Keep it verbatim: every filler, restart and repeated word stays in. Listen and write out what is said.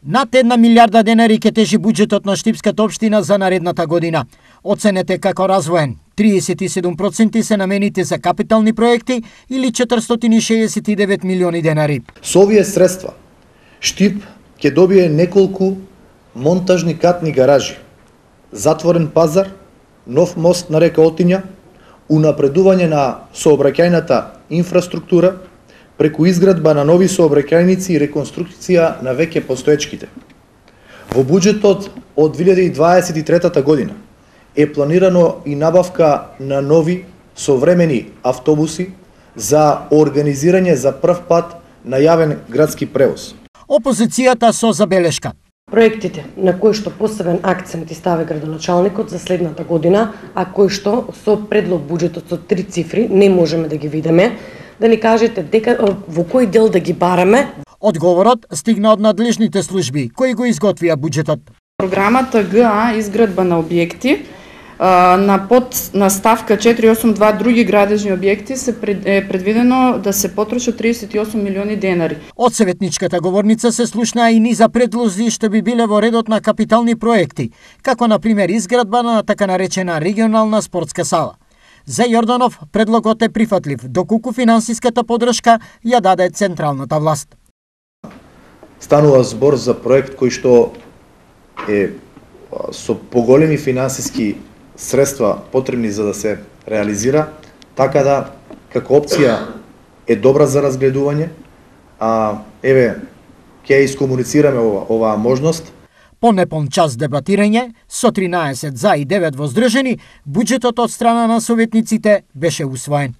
Над една милиарда денари ќе тежи буџетот на Штипската општина за наредната година. Оценете како развоен. триесет и седум проценти се намените за капитални проекти или четиристотини шеесет и девет милиони денари. Со овие средства Штип ќе добие неколку монтажни катни гаражи, затворен пазар, нов мост на река Отиња, унапредување на сообраќајната инфраструктура преку изградба на нови сообраќајници и реконструкција на веќе постоечките. Во буџетот од две илјади дваесет и трета година е планирано и набавка на нови современи автобуси за организирање за прв пат на јавен градски превоз. Опозицијата со забелешка. Проектите на кои што посебен акцент и стави градоначалникот за следната година, а кои што со предлог буџетот со три цифри не можеме да ги видиме, да ни кажете дека во кој дел да ги бараме. Одговорот стигна од надлежните служби кои го изготвија буџетот. Програмата ГА изградба на објекти на под на ставка четири осум два други градежни објекти се пред, е предвидено да се потрошат триесет и осум милиони денари. Од советничката говорница се слушнаа и низа предлози што би биле во редот на капитални проекти, како на пример изградба на така наречена регионална спортска сала. За Јорданов предлогот е прифатлив, доколку финансиската подршка ја даде централната власт. Станува збор за проект кој што е со поголеми финансиски средства потребни за да се реализира, така да како опција е добра за разгледување, а еве ќе искомуницираме ова, оваа можност. По непон час дебатирање, со тринаесет за и девет воздржани, буџетот од страна на советниците беше усвоен.